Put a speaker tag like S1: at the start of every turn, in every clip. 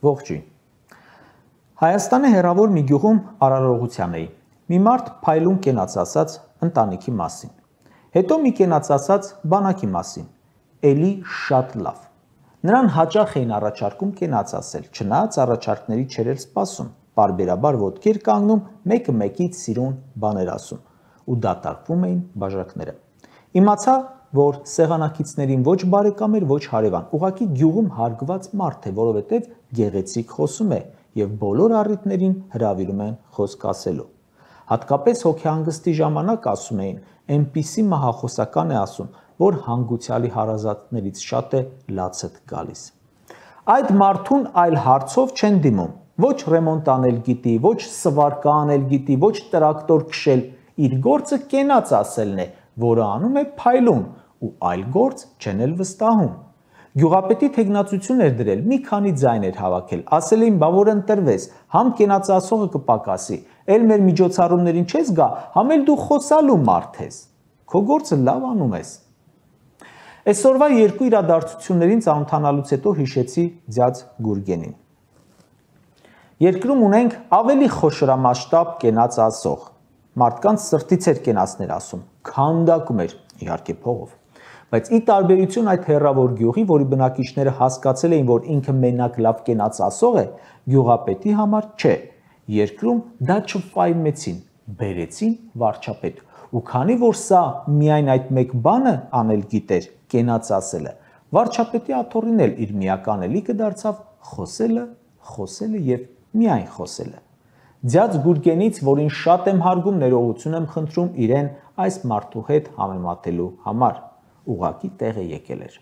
S1: Ողջույն։ Հայաստանի հեռավոր մի գյուղում արարողության էի։ Մի մարդ փայլուն կենաց ասաց ընտանիքի մասին։ Հետո մի կենաց ասաց բանակի մասին։ Էլի շատ լավ։ Նրան հաճախ էին առաջարկում կենաց ասել, չնայած առաջարկների չէր էլ սպասում։ Պարբերաբար ոտքի էր կանգնում, մեկը մեկից սիրուն բաներ ասում ու դատարկվում էին բաժակները։ Իմացա, որ սեղանակիցներին ոչ բարեկամ էր, ոչ հարևան, ուղղակի գյուղում հարգված մարդ է, որովհետև գեղեցիկ խոսում է եւ բոլոր առիթներին հրավիրում են խոսք ասելու։ Հատկապես հոգեհանգստի ժամանակ ասում էին, այնպիսի մահախոսական է ասում, որ հանգուցյալի հարազատներից շատ է լացդ գալիս։ Այդ մարդուն այլ հարցով չեն դիմում, ոչ ռեմոնտ անել գիտի, ոչ սվարկա անել գիտի, ոչ տրակտոր քշել, իր գործը կենաց ասելն է, որը անում է փայլուն ու այլ գործ չեն էլ վստահում։ Գյուղապետի թեկնածություն էր դրել, մի քանի ձայն էր հավաքել, ասել էին, բա որ ընտրվես, համ կենաց ասողը կպակասի, էլ մեր միջոցառումներին չես գա, համ էլ դու խոսալու մարդ ես, քո գործը լավ անում ես։ Այսօրվա երկու իրադարձություններին ծանոթանալուց հետո հիշեցի ձյաձ Գուրգենին։ Երկրում ունենք ավելի խոշորամասշտաբ կենաց ասող, մարդկանց սրտից էր կենացներ ասում, քանդակում էր, իհարկե փողով, բայց ի տարբերություն այդ հեռավոր գյուղի, որի բնակիչները հասկացել էին, որ ինքը մենակ լավ կենաց ասող է, գյուղապետի համար չէ, երկրում դա չֆայմեցին, բերեցին վարչապետ, ու քանի որ սա միայն այդ մեկ բանը անել գիտեր, կենաց ասելը, վարչապետի աթոռին էլ իր միական ելիքը դարձավ խոսելը եւ միայն խոսելը։ Ձյաձ Գուրգենից, որին շատ եմ հարգում, ներողություն եմ խնդրում իրեն այս մարդու հետ համեմատելու համար, ուղղակի տեղ է եկել էր։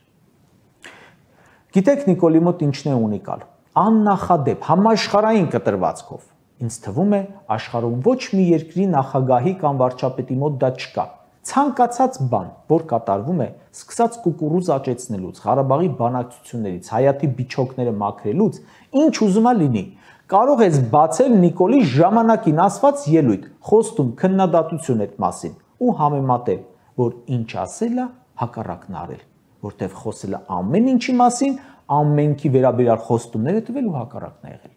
S1: Գիտեք Նիկոլի մոտ ինչն է ունիկալ, աննախադեպ, համաշխարհային կտրվածքով։ Ինձ թվում է աշխարհում ոչ մի երկրի նախագահի կամ վարչապետի մոտ դա չկա։ Ցանկացած բան, որ կատարվում է, սկսած կուկուռուզ աճեցնելուց, Ղարաբաղի բանակցություններից, Հայաթի բիչոկները մաքրելուց, ինչ ուզում է լինի, կարող ես բացել Նիկոլի ժամանակին ասված ելույթ, խոստում, քննադատություն այդ մասին ու համեմատել, որ ինչ ասել է, հակառակն արել, որտեղ խոսելը ամեն ինչի մասին, ամենքի վերաբերյալ խոստումներ է տվել ու հակառակն է եղել։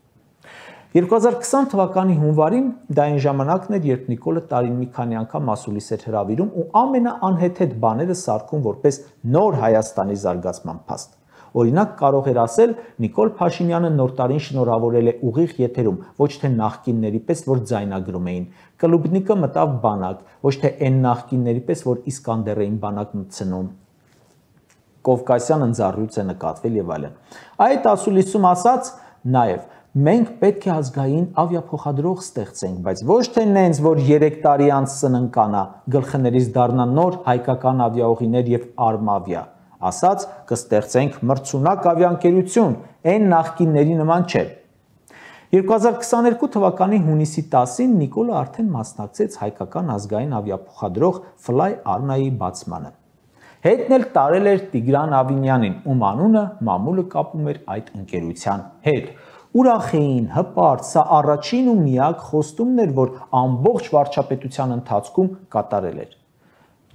S1: 2020 թվականի հունվարին դա այն ժամանակն էր, երբ Նիկոլը տարին մի քանի անգամ մասուլիս էր հրավիրում ու ամենաանհեթեթ բաները սարքում որպես նոր Հայաստանի զարգացման փաստ։ Օրինակ կարող էր ասել Նիկոլ Փաշինյանը նոր տարին շնորհավորել է ուղիղ եթերում, ոչ թե նախկինների պես, որ ձայնագրում էին։ Կլուբնիկը մտավ բանակ, ոչ թե այն նախկինների պես, որ Իսկանդեր էին բանակ մտցնում։ Կովկասյան ընձառյուծ է նկատվել եւ այլն։ Այդ ասուլիսում ասաց նաեւ մենք պետք է ազգային ավիափոխադրող ստեղծենք, բայց ոչ թե նենց, որ 3 տարի անց սննկանա, գլխներից դառնա նոր հայկական ավիաուղիներ եւ Արմավիա։ Ասաց կստեղծենք մրցունակ ավիաընկերություն, այն նախկինների նման չէ։ 2022 թվականի հունիսի 10-ին Նիկոլը արդեն մասնակցեց հայկական ազգային ավիափոխադրող Fly Arna-ի բացմանը։ Հետն էլ տարել էր Տիգրան Ավինյանին, ում անունը մամուլը կապում էր այդ ընկերության հետ։ Ուրախ էին, հպարտ, սա առաջին ու միակ խոստումն էր, որ ամբողջ վարչապետության ընթացքում կատարել էր։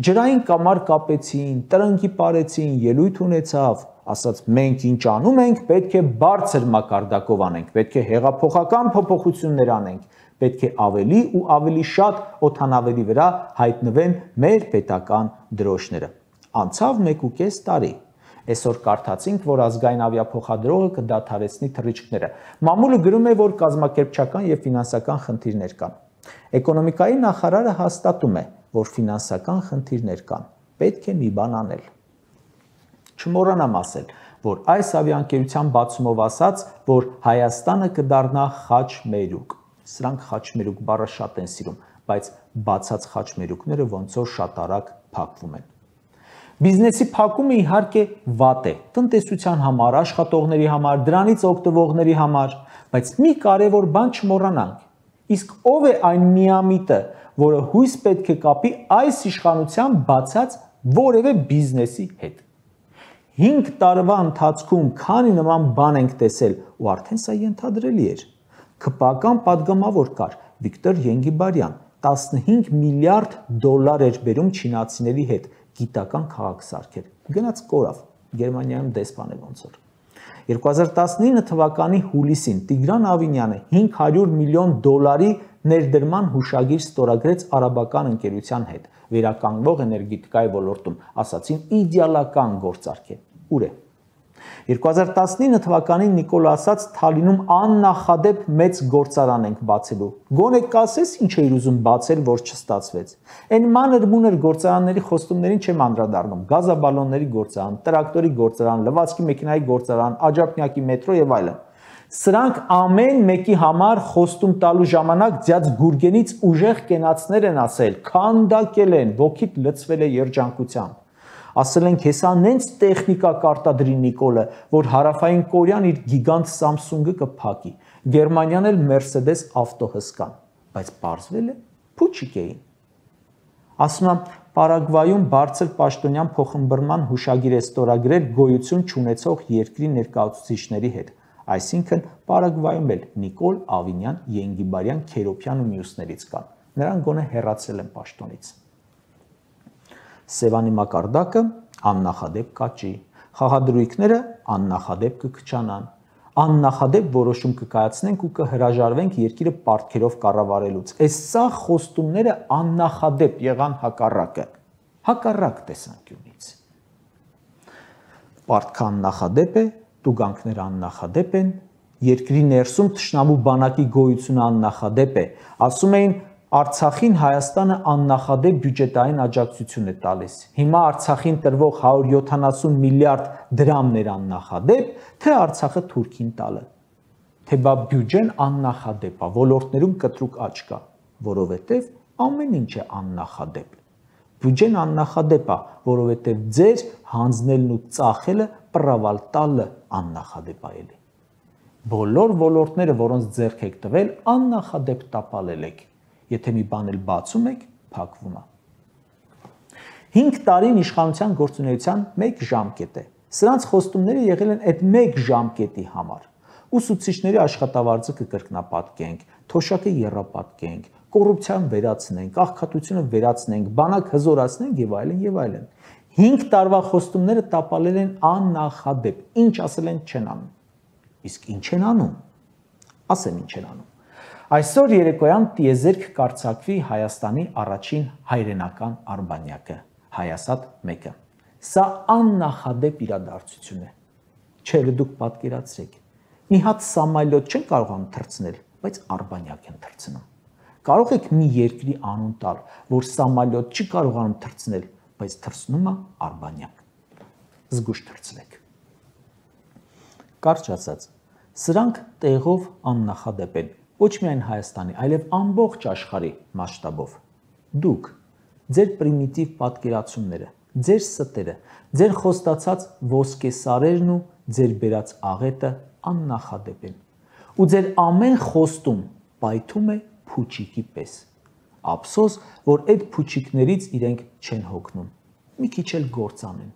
S1: Ջրային կամար կապեցին, տրնկի պարեցին, ելույթ ունեցավ, ասաց մենք ինչ անում ենք, պետք է բարձր մակարդակով անենք, պետք է հեղափոխական փոփոխություններ անենք, պետք է ավելի ու ավելի շատ օդանավերի վրա հայտնվեն մեր պետական դրոշները։ Անցավ 1.5 տարի։ Այսօր կարդացինք, որ ազգային ավիափոխադրողը կդադարեցնի թռիչքները։ Մամուլը գրում է, որ կազմակերպչական եւ ֆինանսական խնդիրներ կան։ Էկոնոմիկայի նախարարը հաստատում է, որ ֆինանսական խնդիրներ կան։ Պետք է մի բան անել։ Չմոռանամ ասել, որ այս ավիաընկերության բացումով ասաց, որ Հայաստանը կդառնա խաչմերուկ։ Սրանք խաչմերուկ բառը շատ են սիրում, բայց բացած խաչմերուկները ոնց որ շատ արագ փակվում են։ Բիզնեսի փակումը իհարկե վատ է, տնտեսության համար, աշխատողների համար, դրանից օգտվողների համար, բայց մի կարևոր բան չմոռանանք։ Իսկ ով է այն միամիտը, որը հույս պետք է կապի այս իշխանության բացած որևէ բիզնեսի հետ։ 5 տարվա ընթացքում քանի նման բան ենք տեսել ու արդեն սա ենթադրելի էր։ ՔՊԱ-կան падգամավոր կար Վիկտոր Ենգիբարյան, 15 միլիարդ դոլար էր բերում չինացիների հետ գիտական քաղաք սարքել։ Գնաց կորավ, Գերմանիայում դեսպան է ոնց որ։ 2019 թվականի հուլիսին Տիգրան Ավինյանը $500 միլիոն ներդրման հուշագիր ստորագրեց արաբական ընկերության հետ վերականգնող էներգետիկայի ոլորտում, ասացին իդեալական գործարք է։ Ուր է։ 2019 թվականին Նիկոլ ասաց Թալինում աննախադեպ մեծ գործարան ենք բացելու։ Գոնե կասես ինչ էիր ուզում բացել, որ չստացվեց։ Այն մանր-մունր գործարանների խոստումներին չեմ անդրադառնում։ Գազաբալոնների գործարան, տրակտորի գործարան, լվացքի մեքենայի գործարան, աջափնյակի մետրո եւ այլն։ Սրանք ամեն մեկի համար խոստում տալու ժամանակ ձյաձ գուրգենից ուժեղ կենացներ են ասել, քանդակել են, ոգիդ լցվել է երջանկությամբ։ Ասել են հեսա նենց տեխնիկա կարտադրի Նիկոլը, որ հարավային Կորեան իր գիգանտ Samsung-ը կփակի, Գերմանիան էլ Mercedes ավտո հսկան, բայց պարզվել է փուչիկ էին։ Ասում եմ, Պարագվայում բարձր պաշտոնյան փոխըմբռնման հուշագիր է ստորագրել գոյություն չունեցող երկրի ներկայացուցիչների հետ, այսինքն Պարագվայում էլ Նիկոլ, Ավինյան, Ենգիբարյան, Քերոփյան ու մյուսներից կան, նրանք գոնե հեռացել են պաշտոնից։ Սևանի մակարդակը աննախադեպ կաճի, խաղադրույքները աննախադեպ կքչանան, աննախադեպ որոշում կկայացնենք ու կհրաժարվենք երկիրը պարտքերով կառավարելուց։ Այս սա խոստումները աննախադեպ եղան հակառակ տեսանկյունից։ Պարտքը աննախադեպ է, տուգանքները աննախադեպ են, երկրի ներսում թշնամու բանակի գոյությունը աննախադեպ է, ասում էին Արցախին Հայաստանը աննախադեպ բյուջետային աջակցություն է տալիս։ Հիմա Արցախին տրվող 170 միլիարդ դրամներ աննախադեպ, թե Արցախը Թուրքին տալը։ Թե բա բյուջեն աննախադեպ է, ոլորտներում կտրուկ աճ կա, որովհետև ամեն ինչ է աննախադեպ։ Բյուջեն աննախադեպ է, որովհետև ձեր հանձնելն ու ծախելը պրավալ տալը աննախադեպ է էլի։ Բոլոր ոլորտները, որոնց ձեռք եք տվել, աննախադեպ տապալել եք։ Եթե մի բան էլ բացում եք, փակվում է։ 5 տարին իշխանության գործունեության 1 ժամկետ է։ Սրանց խոստումները եղել են այդ 1 ժամկետի համար։ Ուսուցիչների աշխատավարձը կկրկնապատկենք, թոշակը եռապատկենք, կոռուպցիան վերացնենք, աղքատությունը վերացնենք, բանակ հզորացնենք եւ այլն եւ այլն։ 5 տարվա խոստումները տապալել են աննախադեպ։ Ինչ ասել են չեն անում։ Իսկ ինչ են անում։ Ասեմ ինչ են անում։ Այսօր երեկոյան տիեզերք կարձակվի Հայաստանի առաջին հայրենական արբանյակը, Հայասատ 1-ը։ Սա աննախադեպ իրադարձություն է։ Չէ, դուք պատկերացրեք։ Մի հատ սամալյոտ չեն կարողանում թռցնել, բայց արբանյակ են թռցնում։ Կարող եք մի երկրի անուն տալ, որ սամալյոտ չի կարողանում թռցնել, բայց թռցնում է արբանյակ։ Զգուշ թռցրեք։ Կարճ ասած, սրանք տեղով աննախադեպ են, ոչ միայն Հայաստանի, այլև ամբողջ աշխարհի մասշտաբով։ Դուք, ձեր պրիմիտիվ պատկերացումները, ձեր ստերը, ձեր խոստացած ոսկեսարերն ու ձեր բերած աղետը աննախադեպ են։ Ու ձեր ամեն խոստում պայթում է փուչիկի պես։ Ափսոս, որ այդ փուչիկներից իրենք չեն հոգնում։ Մի քիչ էլ գործ անեն։